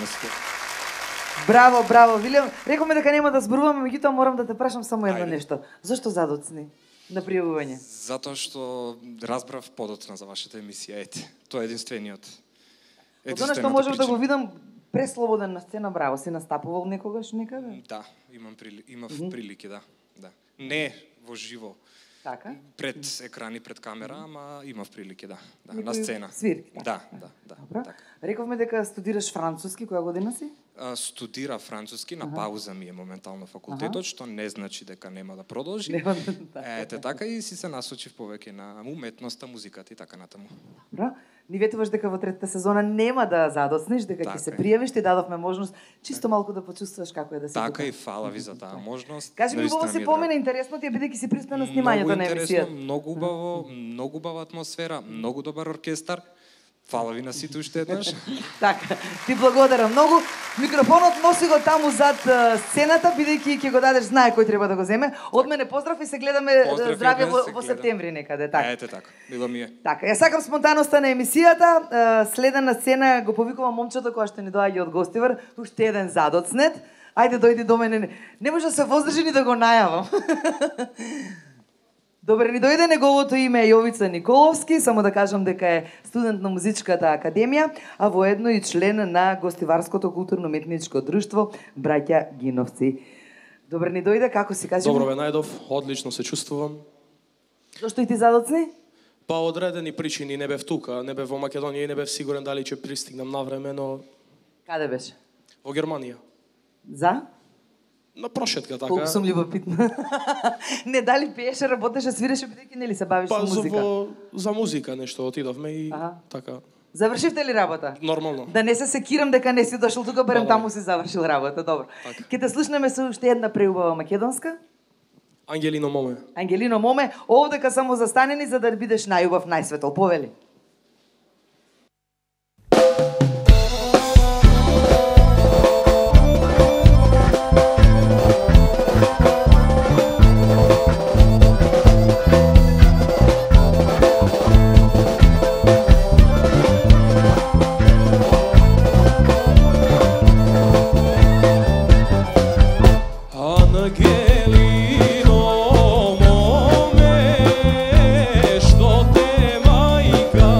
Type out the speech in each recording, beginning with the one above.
на сите. Браво, браво, Вилјам. Рековме дека нема да зборуваме, меѓутоа морам да те прашам само едно нешто. Зошто задоцни на пријавување? Затоа што разбрав подоцна за вашата емисија, ете. Тоа е единствениот. Од она што можам да го видам преслободен на сцена, браво, си настапувал некогаш некаде? Да, имав прилики, да. Не во живо. Така? Пред екрани, пред камера, ама имав прилики, да, на сцена. Свирки? Да. Добро. Рековме дека студираш француски, која година си? Студира француски, на пауза ми е моментално факултетот, што не значи дека нема да продолжи. Ете така и си се насочив повеќе на уметноста, музиката и така натаму. Добро. Ни ветуваш дека во третата сезона нема да задоцнеш, дека ќе се пријавиш, ти дадовме можност чисто малку да почувствуваш како е да се Така и фала ви за таа можност. Кажи ми, убаво се помена, интересно ти е бидејќи си присутна на снимањето на емисијата. Многу убаво, многу убава атмосфера, многу добар оркестар. Фала ви на сите уште еднаш. Така, ти благодарам многу. Микрофонот носи го таму зад сцената, бидејќи ќе го дадеш, знае кој треба да го земе. Од мене поздрав и се гледаме здравје во септември некаде, така. Ете така, мило ми е. Така, ја сакам спонтаноста на емисијата. Следен на сцена го повикувам момчето која што ни доаѓа од Гостивар, уште еден задоцнет. Ајде дојди до мене. Не може да се воздржи ни да го најавам. Добре, ни дојде, неговото име е Јовица Николовски, само да кажам дека е студент на Музичката академија, а воедно и член на Гостиварското културно-уметничко друштво Браќа Гиновци. Добре, ни дојде, како си кажи? Добро бе најдов, одлично се чувствувам. Зошто и ти задоцни? Па одредени причини не бев тука, не бев во Македонија и не бев сигурен дали ќе пристигнам на време, но... Каде беше? Во Германија. За? На прошетка, така. Колку сум љубопитна. Не, дали пееше, работеше, свиреше, бидејќи нели се бавиш со музика? Па за музика нешто отидовме и така. Завршивте ли работа? Нормално. Да не се секирам дека не си дошол тука, барем таму си завршил работа, добро. Ќе те слушнеме со уште една преубава македонска. Ангелино моме. Ангелино моме, овдека само застанени за да бидеш најубав, најсветол, повели. Ангелино моме, што те мајка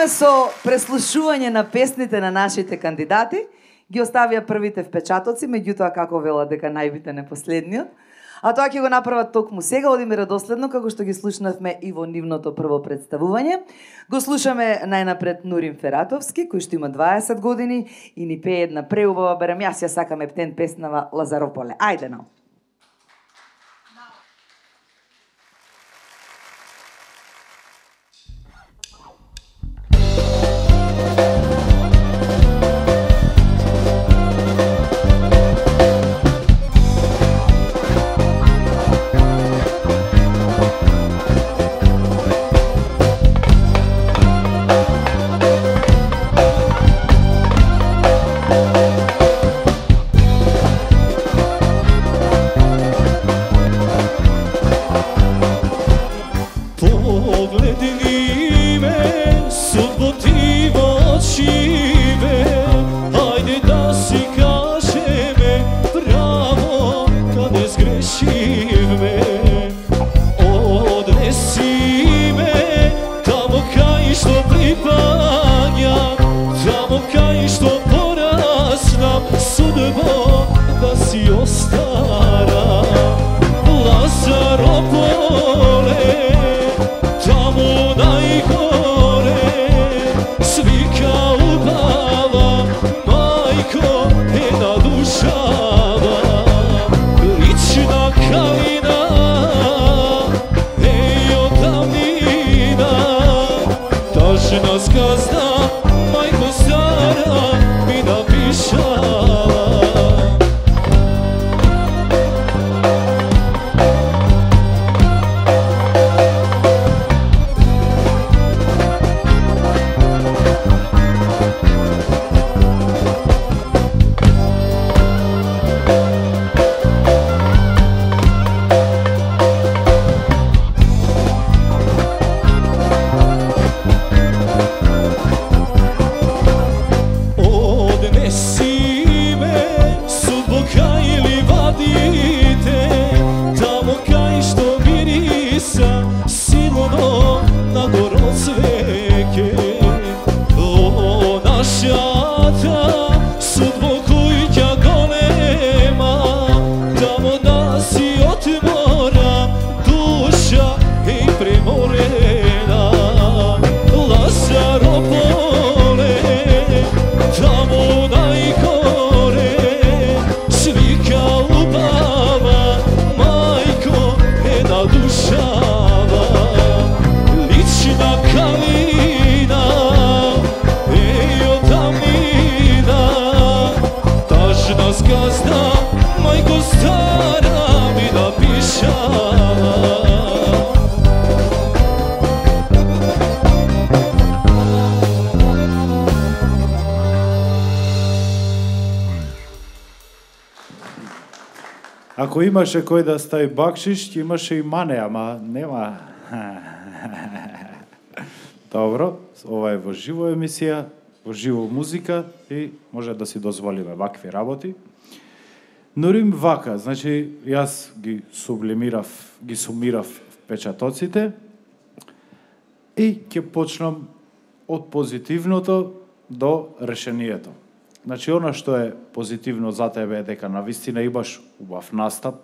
Почнуваме со преслушување на песните на нашите кандидати. Ги оставија првите впечатоци, меѓутоа како велат дека најбитен е последниот. А тоа ќе го направат токму сега, одиме редоследно, како што ги слушнавме и во нивното прво представување. Го слушаме најнапред Нурим Фератовски, кој што има 20 години и ни пее една преубава, барем јас ја сакам ептен песнава Лазарополе. Ајде но! Ако имаше кој да стави бакшиш, ќе имаше и мане, ама нема. Добро, ова е во живо емисија, во живо музика и може да си дозволиме вакви работи. Нурим вака, значи јас ги сумирав впечатоците и ќе почнам од позитивното до решението. Значи, она што е позитивно за тебе е дека навистина имаш убав настап.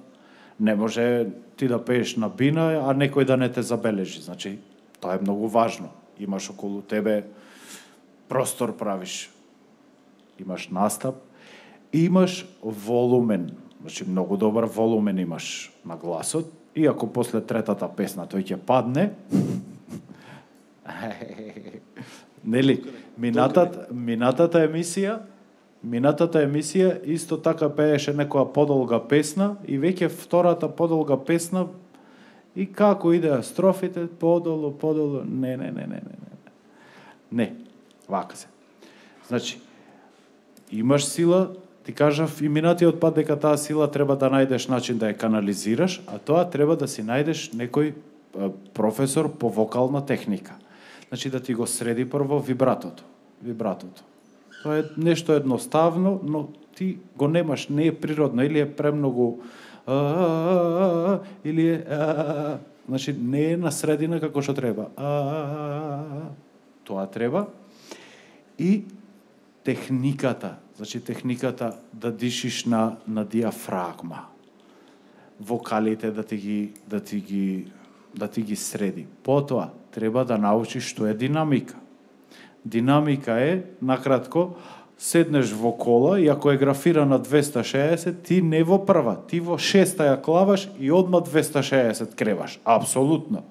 Не може ти да пееш на бина, а некој да не те забележи. Значи, тоа е многу важно. Имаш околу тебе простор правиш. Имаш настап и имаш волумен. Значи, многу добар волумен имаш на гласот. И ако после третата песна тој ќе падне, нели, Минатата емисија исто така пееше некоја подолга песна и веќе втората подолга песна и како идеа строфите подолу, не, вака се. Значи, имаш сила, ти кажав и минатиот пат дека таа сила треба да најдеш начин да ја канализираш, а тоа треба да си најдеш некој професор по вокална техника. Значи да ти го среди прво вибратото. Тоа е нешто едноставно, но ти го немаш, не е природно, или е премногу или е значи не е на средина како што треба. тоа треба. И техниката, значи техниката да дишиш на диафрагма. Вокалите да ти ги среди. Потоа треба да научиш што е динамика. Динамика е, накратко, седнеш во кола и ако е графира на 260, ти не во прва, ти во шеста ја клаваш и одма 260 креваш. Апсолутно.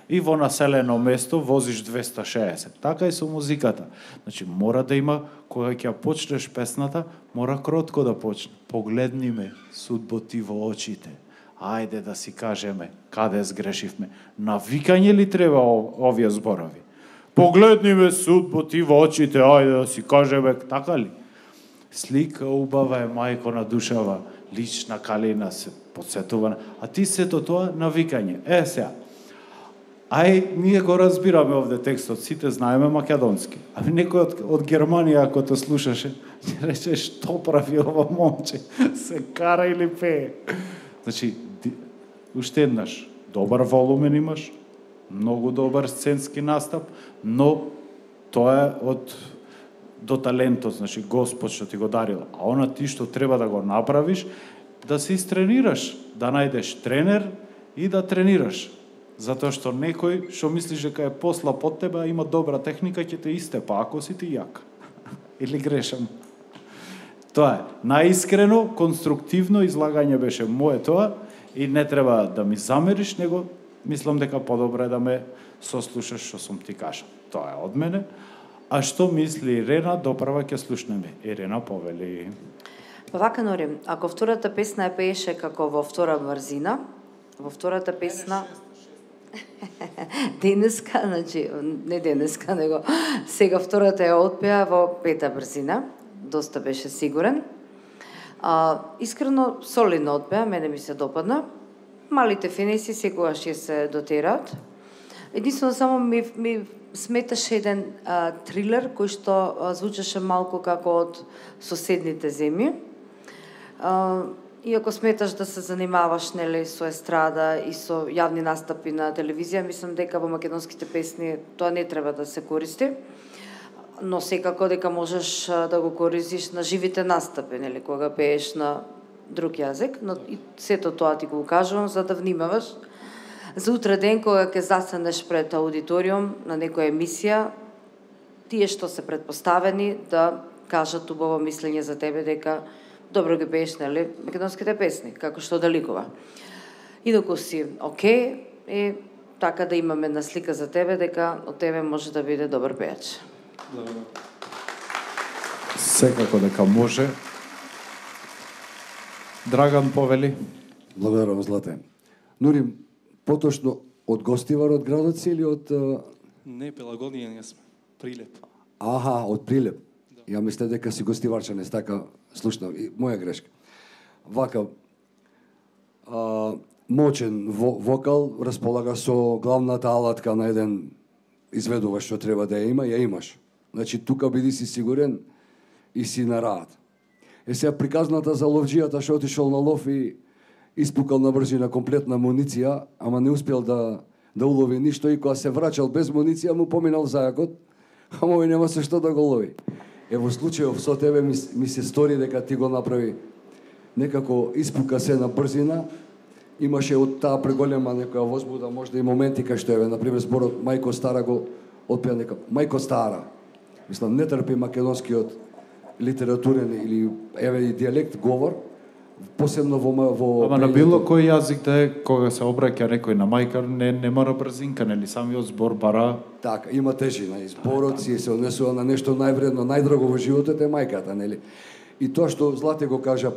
И во населено место возиш 260. Така и со музиката. Значи, мора да има, кога ќе почнеш песната, мора кротко да почне. Погледни ме, судбо ти во очите. Ајде да си кажеме, каде сгрешивме. Навикање ли треба овие зборови? Погледни ме, судбо ти во очите, ајде да си кажеме, така ли? Слика убава е мајко на душава, лична калина се подсетува. А ти сето тоа навикање. Сега, ние го разбираме овде текстот, сите знаеме македонски. Некој од Германија, ако те слушаше, ќе рече, што прави ова момче? Се кара или пее? Значи, уште еднаш, добар волумен имаш, многу добар сценски настап, но тоа е до талентот, значи Господ што ти го дарил. А она ти што треба да го направиш, да се истренираш, да најдеш тренер и да тренираш. Затоа што некој што мислиш дека е посла под тебе, а има добра техника, ќе те истепа, ако си ти јак. Или грешам? Тоа е. Наискрено, конструктивно излагање беше мое тоа и не треба да ми замериш, него мислам дека подобро е да ме сослушаш што сум ти кажал. Тоа е од мене. А што мисли Ирена, допрва ќе слушнеме. Ирена, повели. Па вака, Нори, ако втората песна е пееше како во втора брзина, во втората песна денеска, значи, не денеска, него сега втората ја отпеа во пета брзина, доста беше сигурен. Искрено, солидно отпеа, мене ми се допадна. Малите финеси секогаш ќе се дотераат. Единствено само ми сметаше еден трилер кој што звучеше малку како од соседните земји. И ако сметаш да се занимаваш, нели, со естрада и со јавни настапи на телевизија, мислам дека во македонските песни тоа не треба да се користи, но секако дека можеш да го користиш на живите настапи, нели, кога пееш на друг јазик, но и сето тоа ти го кажувам за да внимаваш. За утре ден кога ќе застанеш пред аудиториум на некоја емисија, тие што се предпоставени да кажат убаво мислење за тебе дека добро ги пееш, нели, македонските песни, како што да ликува. Инаку си окей, и така да имаме една слика за тебе, дека од тебе може да биде добар пеач. Секако дека може. Драган, повели. Благодарам, Злате. Нури, поточно од Гостивар од градот си или од... Не, Пелагонија не сме. Прилеп. Аха, од Прилеп. Ја мисле дека си гостиварчанец, така слушнав. Моја грешка. Вака, мочен вокал, располага со главната алатка на еден изведувач што треба да ја има, ја имаш. Значи, тука биди си сигурен и си на раат. Сега приказната за ловџијата што отишол на лов и испукал на брзина комплетна муниција, ама не успел да улови ништо и кога се врачал без муниција, му поминал зајакот, ама овој нема се што да го лови. Во случајов со тебе ми се стори дека ти го направи некако испука се на брзина, имаше од таа преголема некоја возбуда, можда и моменти кај што еве, например, зборот Мајко Стара го отпеа нека Мајко Стара. Мислам, не трпи македонскиот литературен или еве и дијалект говор, посебно во Ама на било кој јазик да е, кога се обраќа некој на мајка, не мора брзинка, нели самиот збор бара. Така, има тежина и зборот си се однесува на нешто највредно, најдраго во животот е мајката, нели? И тоа што Злате го кажа,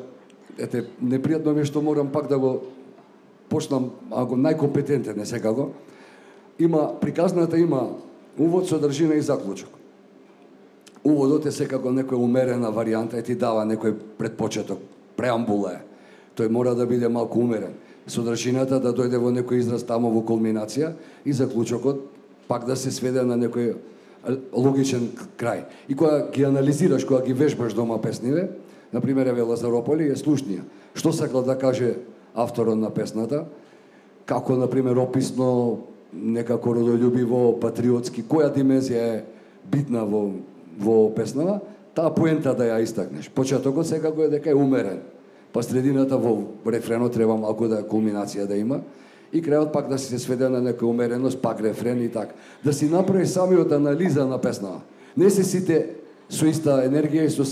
ете, непријатно ми што морам пак да го почнам, ако најкомпетентен е секако. Приказната има увод, содржина и заклучок. Уводот е секако некоја умерена варијанта и ти дава некој предпочеток, преамбула е. Тој мора да биде малку умерен. Содржината да дојде во некој израз тамо во кулминација и заклучокот пак да се сведе на некој логичен крај. И кога ги анализираш, кога ги вежбаш дома песниве, например, еве Лазарополи е слушнија. Што сакал да каже авторот на песната, како, например, описно, некако родолюбиво, патриотски, која димензија е битна во песнава, таа поента да ја истакнеш. Почетокот секако е дека е умерен, па средината во рефренот треба малку да кулминација да има, и крајот пак да се сведе на некоја умереност, пак рефрен и така. Да си направи самиот анализа на песнава. Не се сите со иста енергија и со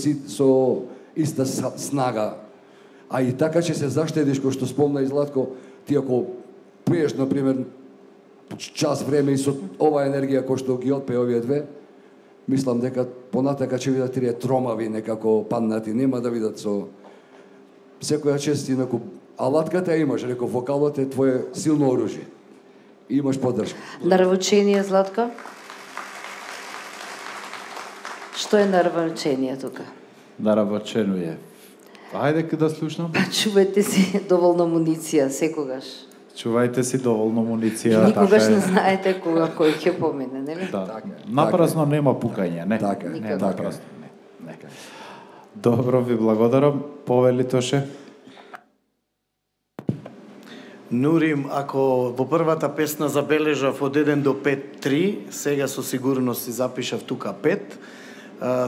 иста снага. А и така ќе се заштедиш, кој што спомна и Златко, ти ако пееш, например, час време и со оваа енергија кој што ги отпее овие две, мислам дека понатака ќе видат тие тромави некако паднати, нема да видат со секоја чест инаку. Алатката ја имаш, реков, вокалот е твое силно оружје. И имаш поддршка. Нарвучение, Златко? Што е нарвучение тука? Нарвучение. Ајде да слушнам. Чувајте си доволно муниција секогаш. Чувајте си доволно муниција. Никогаш не знаете кога кој ќе помине, нели? Да. Напразно нема пукање, не. Така, не напразно. Не. Добро, ви благодарам. Повели Тоше. Нурим, ако во првата песна забележав од 1 до 5-3, сега со сигурност си запишав тука 5.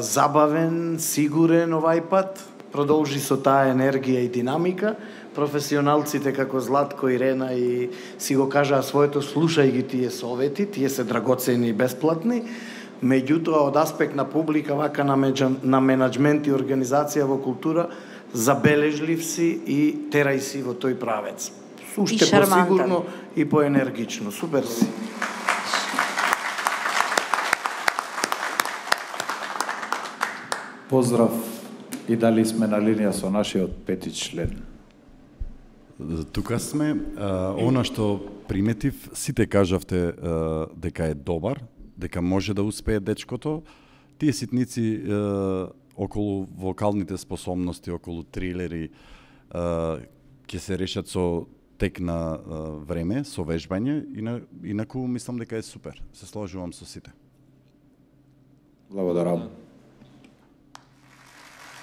Забавен, сигурен овај пат, продолжи со таа енергија и динамика. Професионалците како Златко, Ирена и си го кажаа своето, слушај ги тие совети, тие се драгоцени и бесплатни. Меѓутоа, од аспект на публика, вака на менаџмент и организација во култура, забележлив си и терај си во тој правец. Уште посигурно и поенергично. Супер си. Поздрав и дали сме на линија со нашиот пети член. Тука сме. Она што приметив, сите кажавте дека е добар, дека може да успее дечкото. Тие ситници околу вокалните способности, околу трилери, ќе се решат со тек на време, со вежбање, инаку мислам дека е супер. Се сложувам со сите. Благодарам.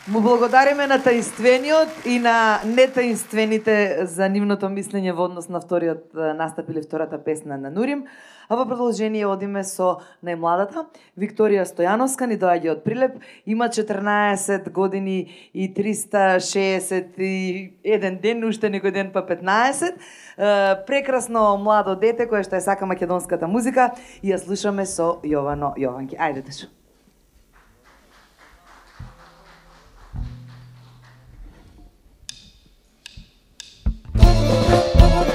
Му благодариме на таинствениот и на нетаинствените за нивното мислење во однос на вториот настап или втората песна на Нурим. А во продолжение одиме со најмладата, Викторија Стојановска, ни доаѓа од Прилеп, има 14 години и 361 ден, уште некој ден па 15. Прекрасно младо дете кое што ја сака македонската музика и ја слушаме со Јовано Јованки. Ајде, Тешо. Jovanke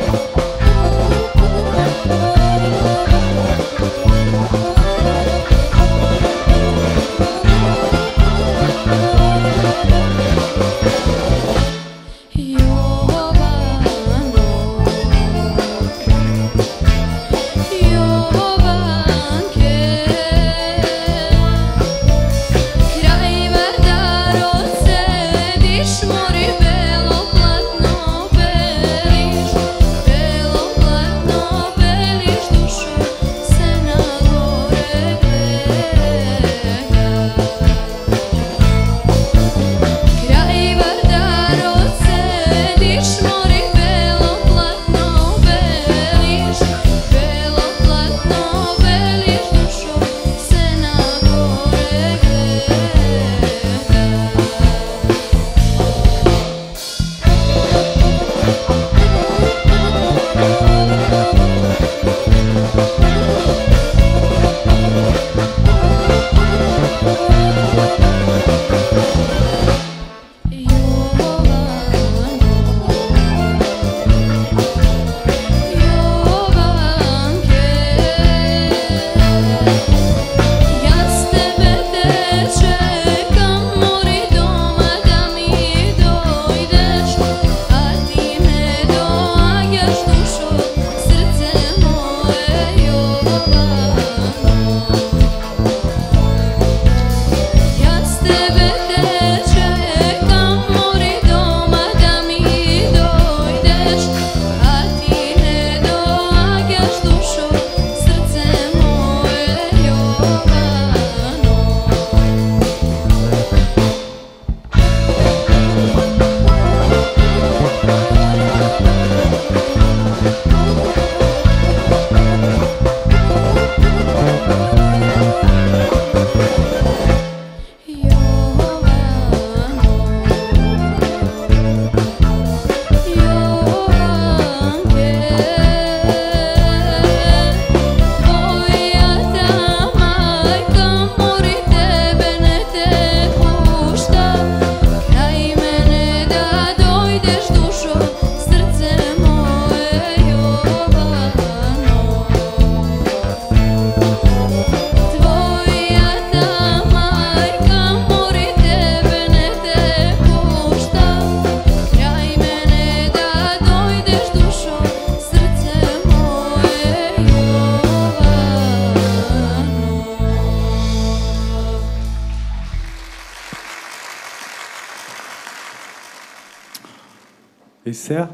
И сега?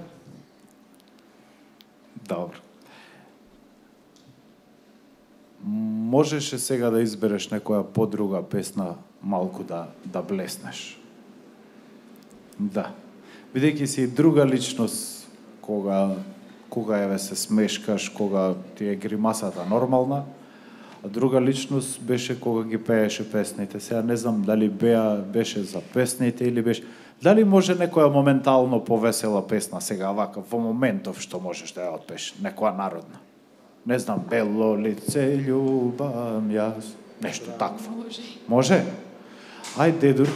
Добро. Можеше сега да избереш некоја подруга песна малку да блеснеш. Да. Бидејќи си друга личност, кога еве се смешкаш, кога ти е гримасата нормална, а друга личност беше кога ги пееше песните. Сега не знам дали беше за песните или беше... Дали може некоја моментално повесела песна сега вака, во моментов што можеш да ја отпееш, некоја народна? Не знам, бело лице љубам јас, нешто такво. Може? Ај, дедур.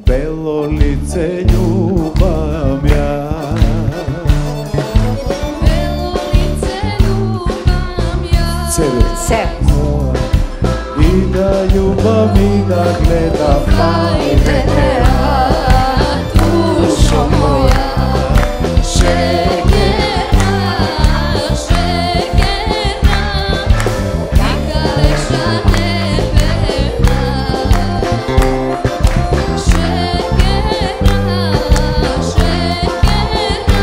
Бело лице љубам јас. Бело лице ljubam ja. Се. И да љубам и да гледам. Ајде душо моја, шеќерна, шеќерна, ти кажеш небена. Шеќерna, šećerna,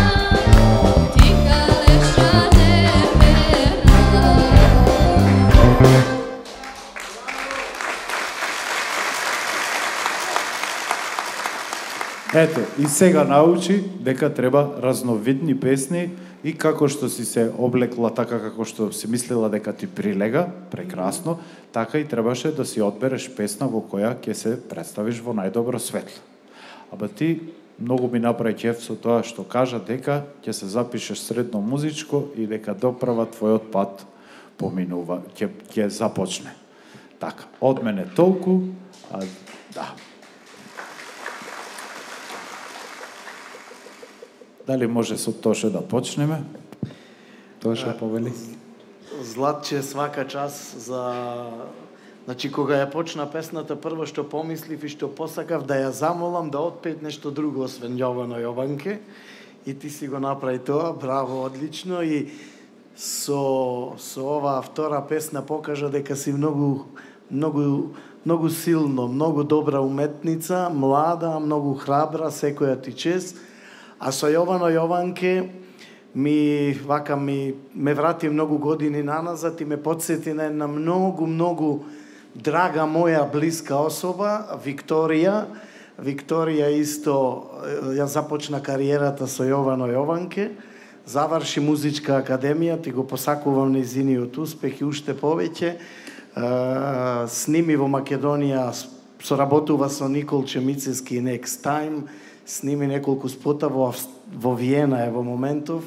ti kaleša neverna. Ето, и сега научи дека треба разновидни песни и како што си се облекла така како што си мислела дека ти прилега, прекрасно, така и требаше да си одбереш песна во која ќе се представиш во најдобро светло. Аба ти многу ми направи ќеф со тоа што кажа дека ќе се запишеш средно музичко и дека доправа твојот пат поминува, ќе започне. Така, од мене толку, да. Дали може со Тоше да почнеме? Тоше повели. Златче, свака час за... Значи, кога ја почна песната, прво што помислив и што посакав да ја замолам да отпеет нешто друго освен Јовано Јованке. И ти си го направи тоа, браво, одлично. И со оваа втора песна покажа дека си многу силно, многу добра уметница, млада, многу храбра, секоја ти чест. А со Јовано Јованке ме врати многу години наназад и ме потсети на една многу драга моја блиска особа, Викторија. Викторија исто ја започна кариерата со Јовано Јованке, заврши музичка академија, ти го посакувам нејзиниот успех и уште повеќе. Сними во Македонија, соработува со Никол Чемицески и Next Time, сними неколку спота во Виена е во моментов.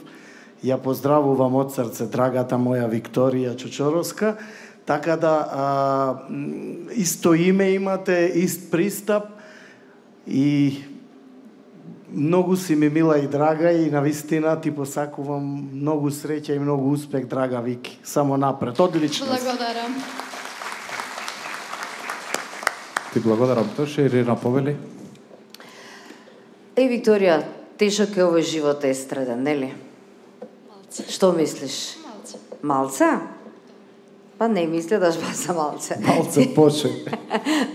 Ја поздравувам од срце драгата моја Викторија Чочоровска. Така да исто име имате, ист пристап и многу си ми мила и драга и навистина ти посакувам многу среќа и многу успех, драга Вики. Само напред, одлично. Благодарам. Ти благодарам, Тоше. Ирина повели? Викторија, тешок е овој живот естраден, нели? Малце. Што мислиш? Малце. Малце? Па не мисля да за малце. Малце поче.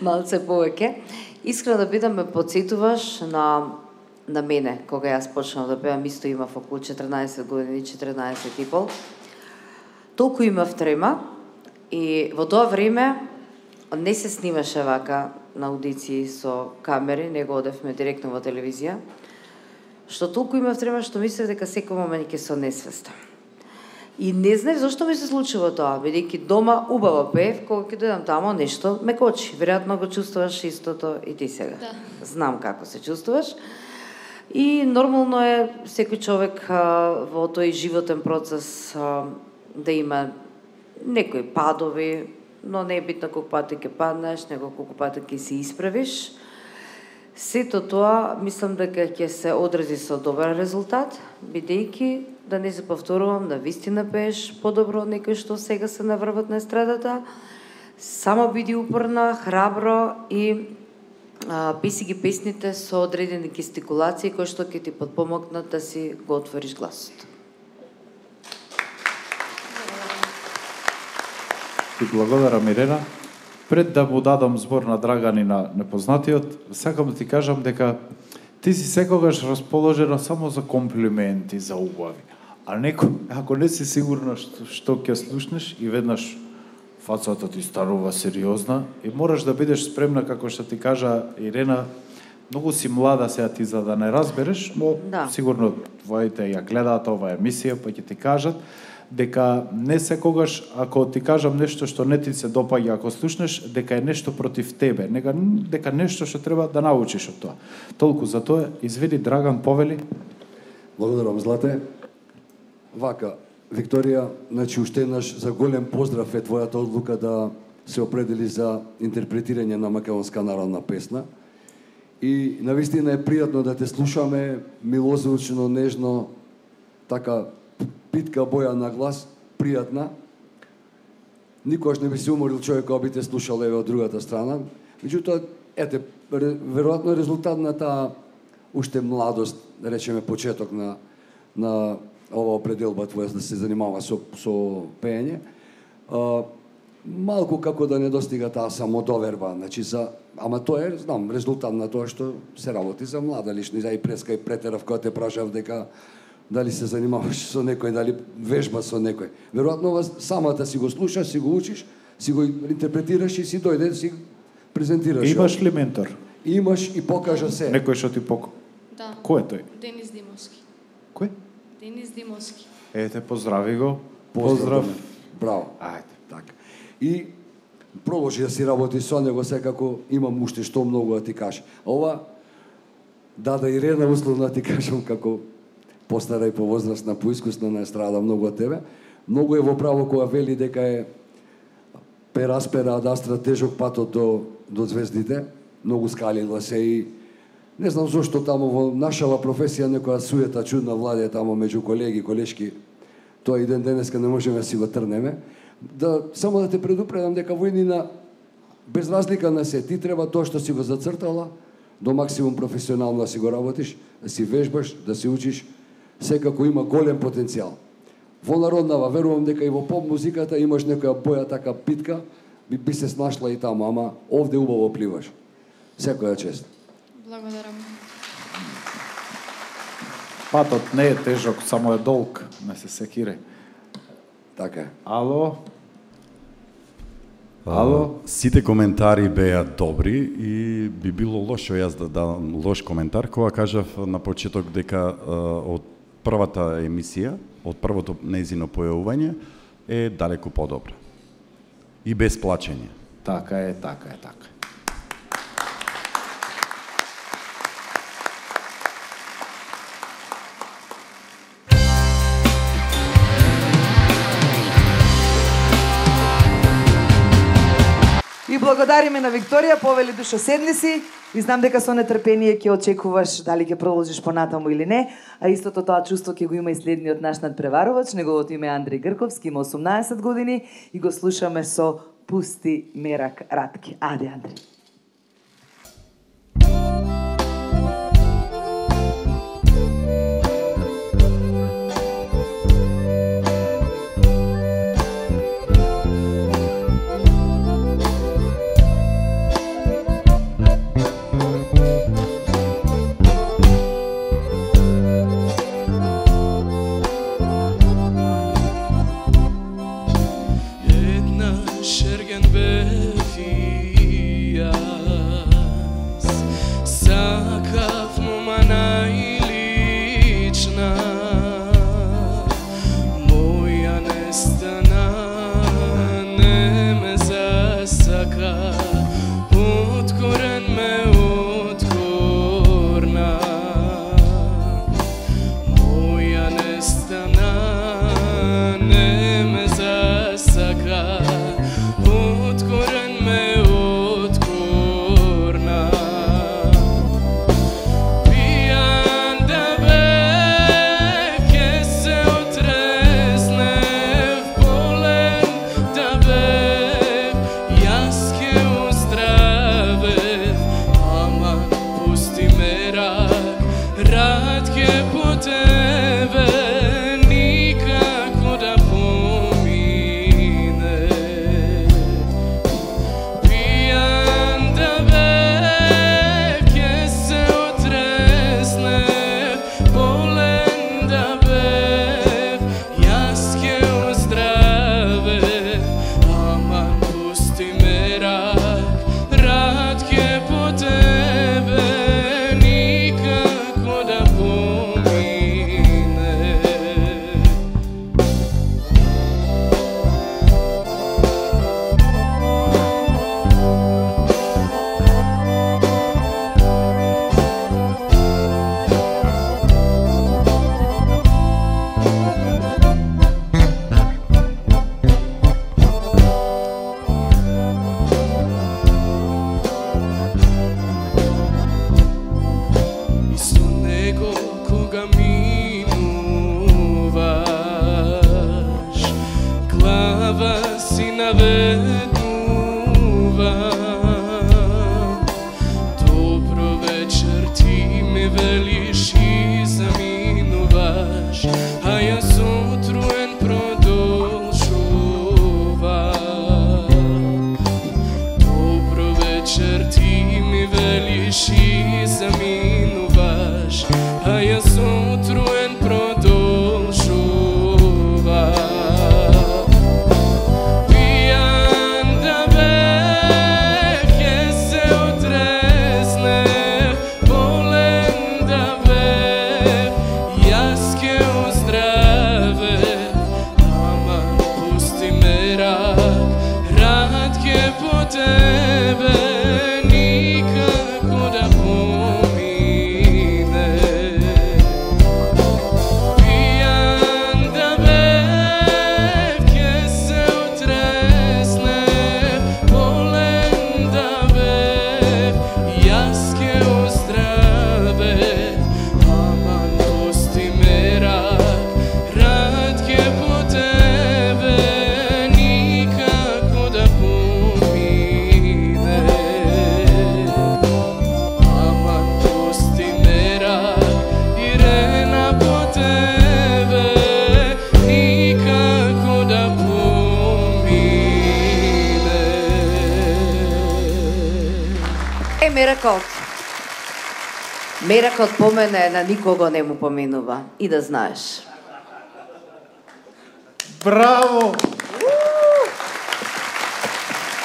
Малце повеќе. Искрено да бидам, ме подсетуваш на мене, кога јас почнав да пеам, исто имав околу 14 години, 14 и пол. Толку имав трема и во тоа време не се снимаше вака на аудиции со камери, него одевме директно во телевизија, што толку имав трема што мислев дека секој момент ќе се несвестам. И не знаев зашто ми се случува тоа, бидејќи дома убаво пеев, кога ќе дојдам тамо нешто ме кочи. Веројатно го чувствуваш истото и ти сега. Да. Знам како се чувствуваш. И нормално е секој човек во тој животен процес да има некои падови, но не е битно колку пати ќе паднеш, него колку пати ќе се исправиш. Сето тоа, мислам дека ќе се одрази со добар резултат, бидејќи, да не се повторувам, да вистина пееш подобро од некој што сега се наврват на естрадата. Само биди упорна, храбро и писи ги песните со одредени гестикулации кои што ќе ти подпомогнат да си го отвориш гласот. Ти благодарам, Ирена. Пред да му дадам збор на Драган и на непознатиот, сакам да ти кажам дека ти си секогаш расположена само за комплименти, за убави. А ако не си сигурна што ќе слушнеш и веднаш фацата ти станува сериозна и мораш да бидеш спремна, како што ти кажа Ирена, многу си млада сега ти за да не разбереш, но сигурно твоите ја гледаат оваа емисија, па ќе ти кажат дека не секогаш, ако ти кажам нешто што не ти се допаѓа, ако слушнеш, дека е нешто против тебе, дека нешто што треба да научиш од тоа. Толку за тоа, изведи Драган, повели. Благодарам, Злате. Вака, Викторија, значи уште еднаш за голем поздрав е твојата одлука да се определи за интерпретирање на македонска народна песна. И навистина е пријатно да те слушаме, милозвучно, нежно, така питка боја на глас, пријатна. Никогаш не би се уморил човек кога би те слушал еве од другата страна. Меѓутоа, ете, веројатно резултат на таа уште младост, да речеме почеток на ова определба твоја да се занимава со пеење. Малку како да не достига таа самодоверба, значи ама тоа е, знам, резултат на тоа што се работи за млада личност, и преска и претерав кога те прашав дека дали се занимаваш со некој, дали вежба со некој. Веројатно самата си го слушаш, си го учиш, си го интерпретираш и си дојде, си презентираш. Имаш ли ментор? Имаш и покажа се. Некој што ти Да. Кој е тој? Денис Димовски. Кој? Денис Димовски. Ете, поздрави го. Поздрав. Браво. Ајде. Така. И продолжи да си работи со него, секако имам уште што многу да ти кажам. Ова, да Ирена, условно да ти кажам, како постара и повозрастна, поискусна на естрада, многу од тебе. Многу е во право кога вели дека е пераспера ад астра тежок патот до звездите. Многу скалила се и не знам зошто тамо во нашава професија некоја суета чудна владе тамо меѓу колеги, колешки. Тоа и ден денеска не можеме да си го трнеме. Само да те предупредам дека во иднина, без разлика на се, ти треба тоа што си го зацртала, до максимум професионално да си го работиш, да си вежбаш, да си учиш, секако има голем потенцијал. Во народнава, верувам дека и во поп музиката имаш некоја боја така питка, би се снашла и таму, ама овде убаво пливаш. Секоја чест. Благодарам. Патот не е тежок, само е долг, не се секире. Така е. Ало? Ало? Сите коментари беа добри и би било лошо јас да дадам лош коментар кога кажав на почеток дека од првата емисија, од првото нејзино појавување е далеку подобра. И без плачење. Така е, така е, така е. И благодариме на Викторија, повели душо седни си и знам дека со нетрпение ќе очекуваш дали ќе продолжиш понатаму или не, а истото тоа чувство ќе го има и следниот наш надпреварувач, неговото име е Андреј Грковски, има 18 години и го слушаме со Пусти мерак Ратки. Аде, Андреј. Една шерген бев и вечер ти ми велиш и заминуваш, а јас утруен продолжувам. Добро вечер ти ми велиш и заминуваш, а јас утруен продолжувам. Пијан да бев, ќе се отрезнев, болен да бев, јас ќе оздравев, ама пусти ме рад ќе по тебе, никако да помине. Пијан да бев, ќе се отрезнев, болен да бев, јас ќе оздравев, ама пусти ме рад ќе по тебе, никако да помине. Ама пусти ме Ирена по тебе, никако да помине. Меракот по мене на никого не му поминува. И да знаеш. Браво!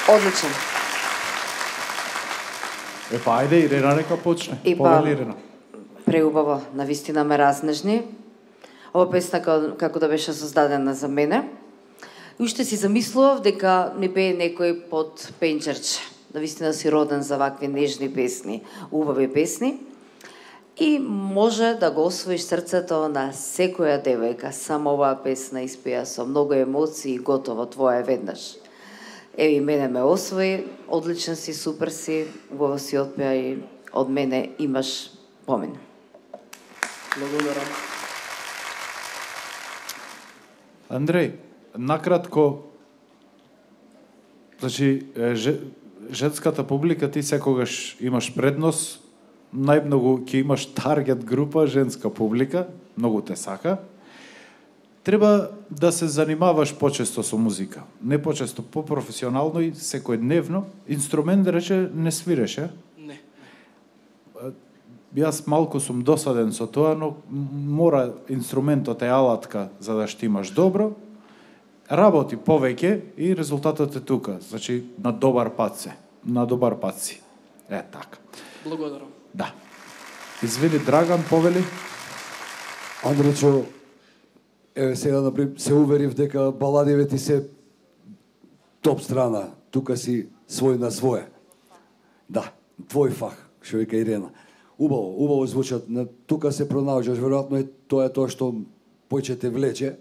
Одличен. Епа, ајде, Ирена нека почне. Епа. Повели, Ирена. Преубаво, навистина ме разнежни. Ова песна како да беше создадена за мене. И уште си замислував дека не пее некој под пенчерче. Навистина си роден за вакви нежни песни, убави песни. И може да го освоиш срцето на секоја девојка. Само оваа песна испеа со многу емоции и готово твоја веднаш. Еви, мене ме освои, одличен си, супер си, убаво си отпеа и од мене имаш помен. Благодарам. Андреј, накратко, значи, женската публика ти секогаш имаш предност, најмногу ќе имаш таргет група, женска публика, многу те сака. Треба да се занимаваш почесто со музика. Не почесто, по-професионално и секојдневно. Инструмент, да рече, не свиреше. Не. Јас малку сум досаден со тоа, но мора инструментот е алатка за да штимаш добро. Работи повеќе и резултатот е тука. Значи, на добар пат се. На добар пат си. Е, така. Благодарам. Да. Извини, Драган, повели? Андречо, еве сега например се уверив дека баладиве ти се топ страна. Тука си свој на своje. Да, твој фах, што вика Ирена. Убаво звучат. Тука се пронаоѓаш, веројатно е тоа што поќе те влече.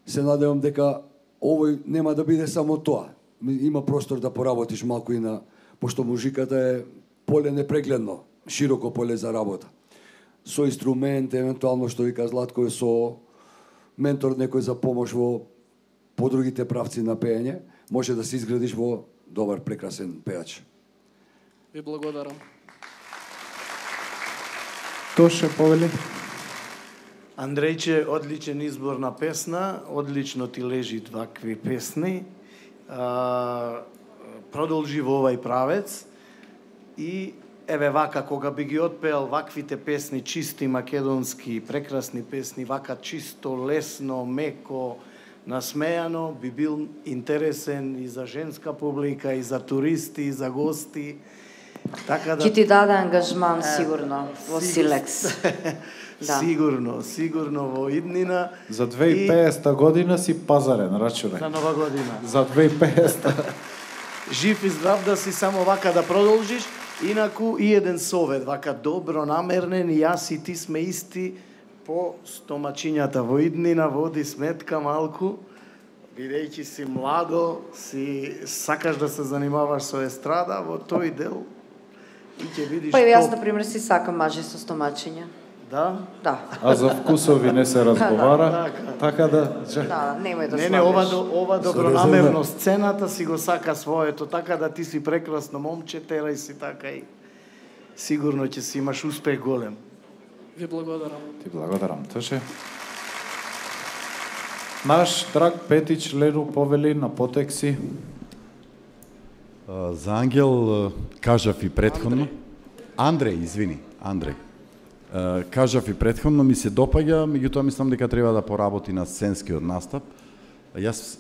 Се надевам дека овој нема да биде само тоа. Има простор да поработиш малку и на, пошто музиката е поле непрегледно, широко поле за работа. Со инструмент, евентуално што вика Златко, со ментор некој за помош во по другите правци на пеење, може да се изградиш во добар, прекрасен пеач. Ви благодарам. Тоше, повели? Андрејче, одличен избор на песна, одлично ти лежи вакви песни. Продолжи во овај правец и еве вака, кога би ги отпеал ваквите песни, чисти македонски, прекрасни песни, вака чисто, лесно, меко, насмејано, би бил интересен и за женска публика, и за туристи, и за гости. Така да... Ќе ти даде ангажман сигурно во Силекс. Да. Сигурно во иднина. За 2050 година си пазарен, рачунај. За нова година. За 2050. Жив и здрав да си, само вака да продолжиш. Инаку и еден совет, вака добро намернен, и јас и ти сме исти по стомачињата во иднина, води сметка малку, бидејќи си младо, си сакаш да се занимаваш со естрада, во тој дел и ќе видиш. Па и јас, например, си сакам мажи со стомачиња. Да? Да. А за вкусови не се разговара, така да... Да, немој да Не, ова добронамерно сцената си го сака своето, така да ти си прекрасно момче, терај си така и сигурно ќе си имаш успех голем. Ви благодарам. Ти благодарам, Тоше. Наш драг Петич Леру повели на потекси. За Ангел кажав и претходно. Andrej, извини, Andrej. Кажав и претходно, ми се допаѓа, меѓутоа мислам дека треба да поработи на сценскиот настап. Јас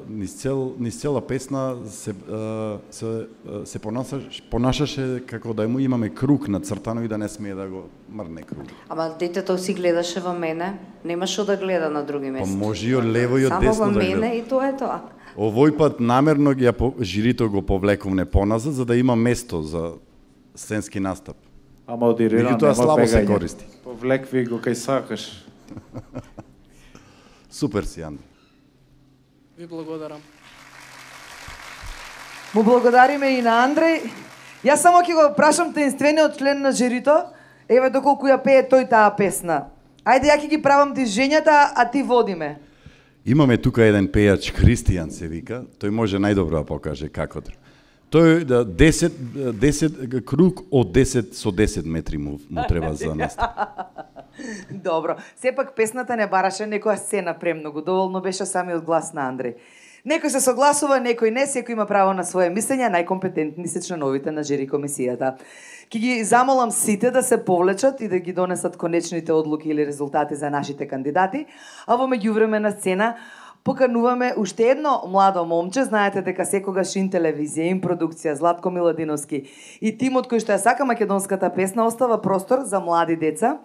низ цела песна се понашаше како да му имаме круг нацртано и да не смее да го мрне круг. Ама детето си гледаше во мене, немаше да гледа на други места. Па може и од лево и од десно да гледа. Само во мене и тоа е тоа. Овој пат намерно жирито го повлековне поназад за да има место за сценски настап. Ама одирира, меѓутоа слабо се користи. Повлекви го кај сакаш. Супер си, Андрей. Ви благодарам. Му благодариме и на Андреј. Јас само ќе го прашам таинствениот член на жирито, еве доколку ја пее тој таа песна. Ајде ја ќе ги правам движењата, а ти водиме. Имаме тука еден пејач, Христијан се вика, тој може најдобро да покаже како. Тој 10 круг од 10 со 10 метри му треба за настап. Добро. Сепак песната не бараше некоја сцена премногу, доволно беше самиот глас на Андреј. Некој се согласува, некој не, секој има право на своje мислење, најкомпетентни се членовите на жири комисијата. Ќе ги замолам сите да се повлечат и да ги донесат конечните одлуки или резултати за нашите кандидати, а во меѓувреме на сцена покануваме уште едно младо момче, знаете дека секогаш Ин телевизија, Ин продукција, Златко Миладиновски и тимот кој што ја сака македонската песна остава простор за млади деца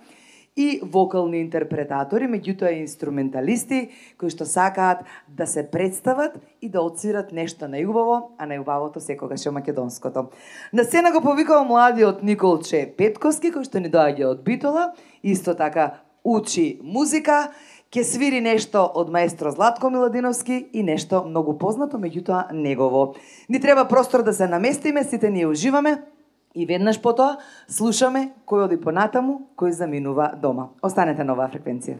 и вокални интерпретатори, меѓутоа и инструменталисти кои што сакаат да се представат и да отсвират нешто најубаво, а најубавото секогаш е македонското. На сцена го повикува младиот Николче Петковски кој што ни доаѓа од Битола, исто така учи музика, ќе свири нешто од маестро Златко Миладиновски и нешто многу познато, меѓутоа негово. Ни треба простор да се наместиме, сите ние уживаме и веднаш потоа слушаме кој оди понатаму, кој заминува дома. Останете на оваа фреквенција.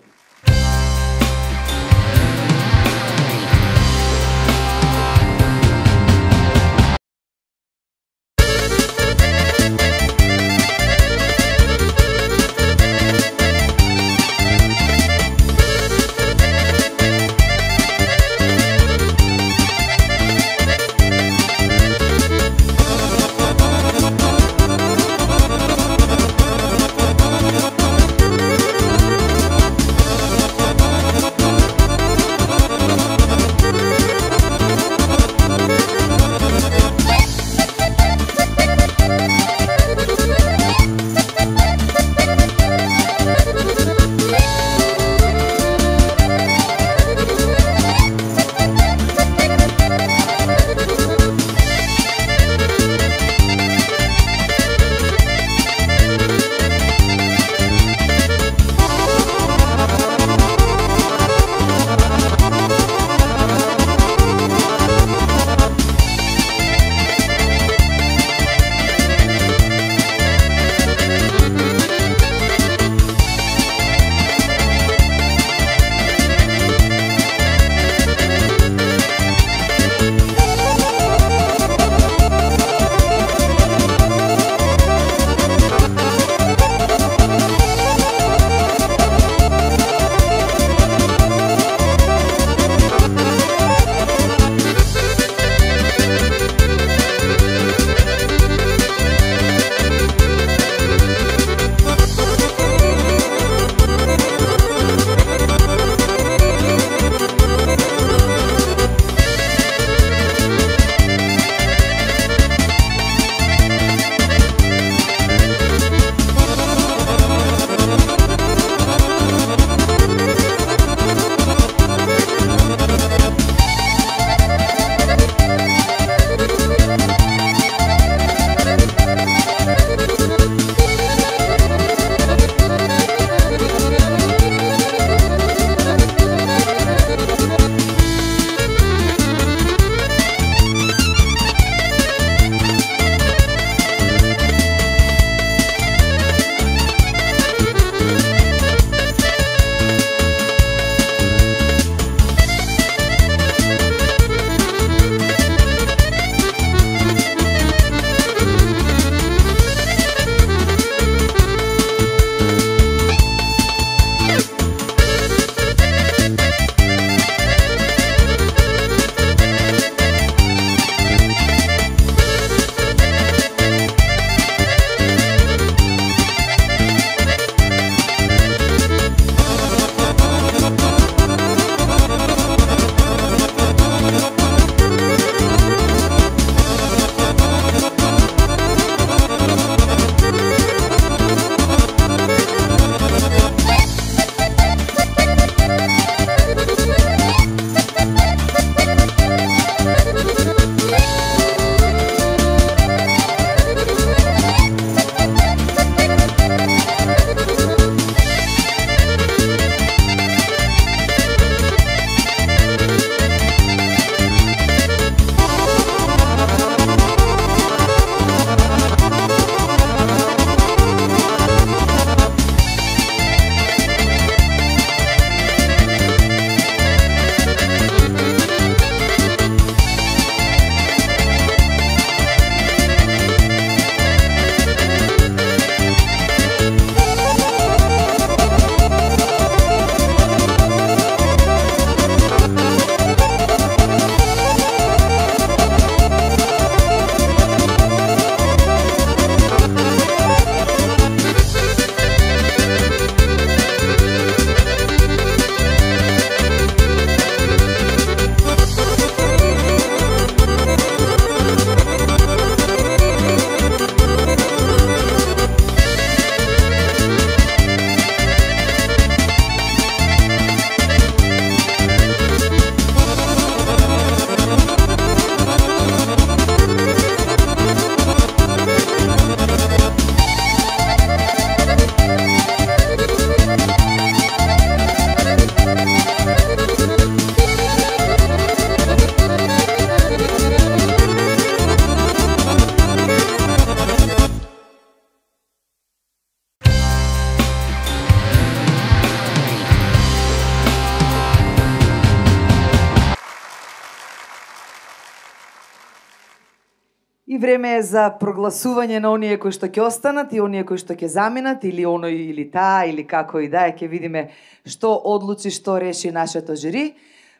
време е за прогласување на оние кои што ќе останат и оние кои што ќе заминат, или оној или таа, или како и да е, ќе видиме што одлучи, што реши нашето жири.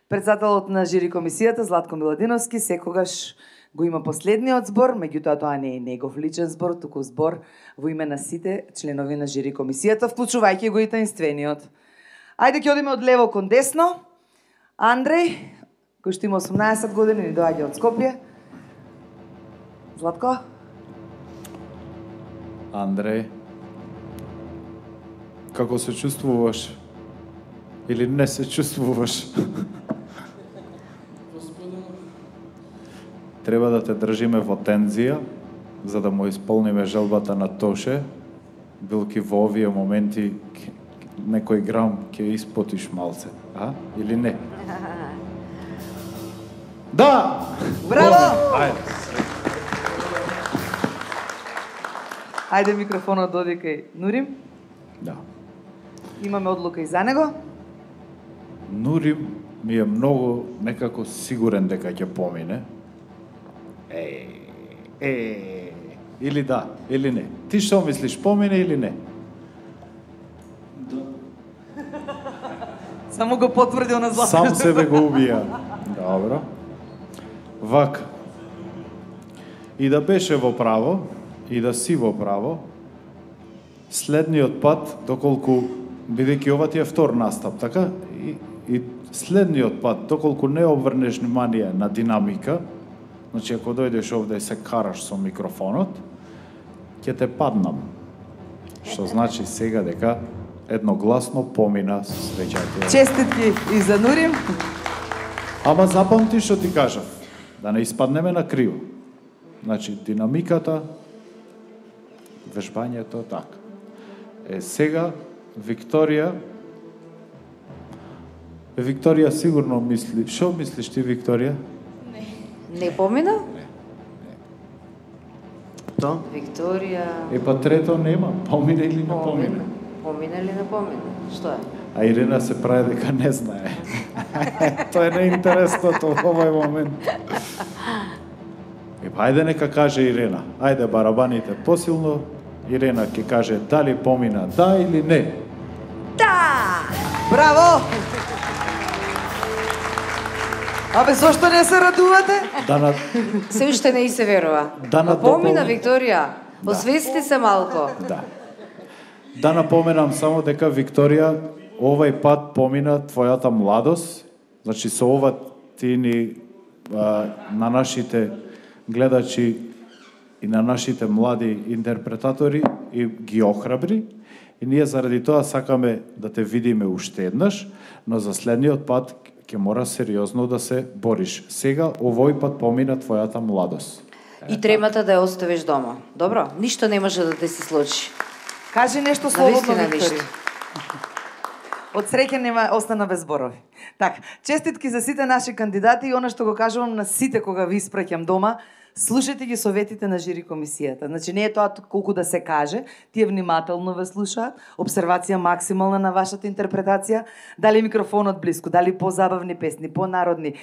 Председателот на жири комисијата Златко Миладиновски секогаш го има последниот збор, меѓутоа тоа не е негов личен збор, туку збор во име на сите членови на жири комисијата, вклучувајќи го и таинствениот. Ајде ќе одиме од лево кон десно. Андреј, кој што има 18 години, ни доаѓа од Скопје. Златко? Андреј, како се чувствуваш? Или не се чувствуваш? Треба да те држиме во тензија, за да му исполниме желбата на Тоше, билки во овие моменти некој грам ќе испотиш малце, а? Или не? Да! Браво! Ајде. Ајде микрофонот доди кај Нурим. Да. Имаме одлука и за него. Нурим ми е многу некако сигурен дека ќе помине. Или да, или не. Ти што мислиш, помине или не? Само го потврдил на Златко. Сам себе го убија. Добро. Вака. И да беше во право, и да си во право, следниот пат, доколку, бидејќи ова ти е втор настап, така? И следниот пат, доколку не обрнеш внимание на динамика, значи ако дојдеш овде и се караш со микрофонот, ќе те паднам. Што значи сега дека едногласно помина со среќајте. Честитки и за Нурим. Ама запамти што ти кажав, да не испаднеме на криво. Значи, динамиката, вежбањето, така. Сега, Викторија сигурно мисли... Шо мислиш ти, Викторија? Не помина? То? Викторија... Па трето нема, помине или не помине? Помина или не помина? Што е? А Ирина се прави дека не знае. Тоа е неинтересното во овој момент. Ајде нека каже Ирина. Ајде барабаните посилно. Ирина ќе каже дали помина да или не. Да! Браво! Абе, зошто не се радувате? Се уште не и се верува. Помина, Викторија. Освести се малко. Да. Да напоменам само дека Викторија овај пат помина твојата младост. Значи со ова ти ни на нашите гледачи и на нашите млади интерпретатори и ги охрабри. И ние заради тоа сакаме да те видиме уште еднаш, но за следниот пат ќе мора сериозно да се бориш. Сега овој пат помина твојата младост. И тремата да ја оставиш дома. Добро? Ништо не може да те се случи. Кажи нешто слободно, Викторија. Викторија. Од среќа нема остана без зборови. Така, честитки за сите наши кандидати и она што го кажувам на сите кога ви испраќам дома, слушајте ги советите на жири комисијата. Значи не е тоа колку да се каже, тие внимателно ве слушаат, обсервација максимална на вашата интерпретација, дали микрофонот блиску, дали позабавни песни, понародни.